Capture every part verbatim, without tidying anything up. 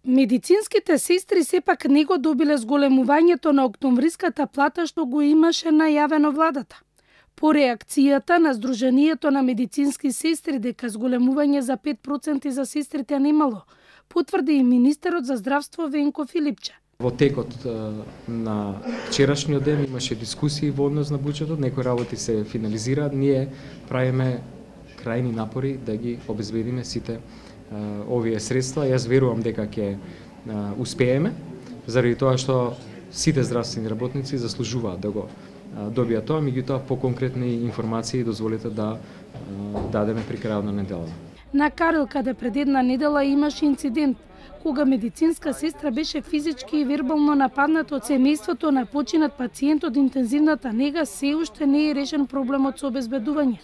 Медицинските сестри сепак не го добиле зголемувањето на октомвриската плата што го имаше најавено владата. По реакцијата на Сдруженијето на медицински сестри дека зголемување за пет проценти за сестрите немало, потврди и министерот за здравство Венко Филипче. Во текот на вчерашниот ден имаше дискусии во однос на буџетот, некои работи се финализираат, ние правиме крајни напори да ги обезбедиме сите овие средства. Јас верувам дека ќе успееме, заради тоа што сите здравствени работници заслужуваат да го добијат тоа, меѓутоа по конкретни информации дозволете да дадеме при крајот на неделата. На Карел, каде пред една недела имаше инцидент, кога медицинска сестра беше физички и вербално нападната од семејството на починат пациент од интензивната нега, се уште не е решен проблемот со обезбедување.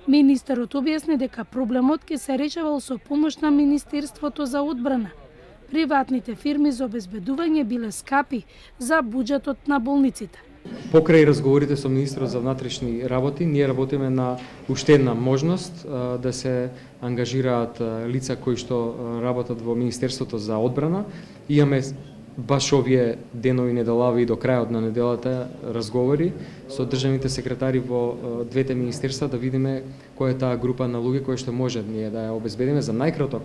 Министерот објасни дека проблемот ќе се решавал со помош на Министерството за одбрана. Приватните фирми за обезбедување биле скапи за буџетот на болниците. Покрај разговорите со министерот за внатрешни работи, ние работиме на уште една можност да се ангажираат лица кои што работат во Министерството за одбрана. Имаме баш овие денови неделави и до крајот на неделата разговори со државните секретари во двете министерства да видиме која е таа група на луѓе кои што може ние да ја обезбедиме за најкраток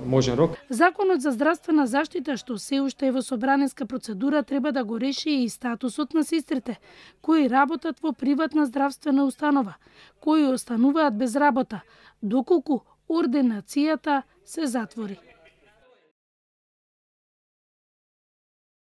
можен рок. Законот за здравствена заштита, што се уште е во собранеска процедура, треба да го реши и статусот на сестрите кои работат во приватна здравствена установа, кои остануваат без работа, доколку ординацијата се затвори.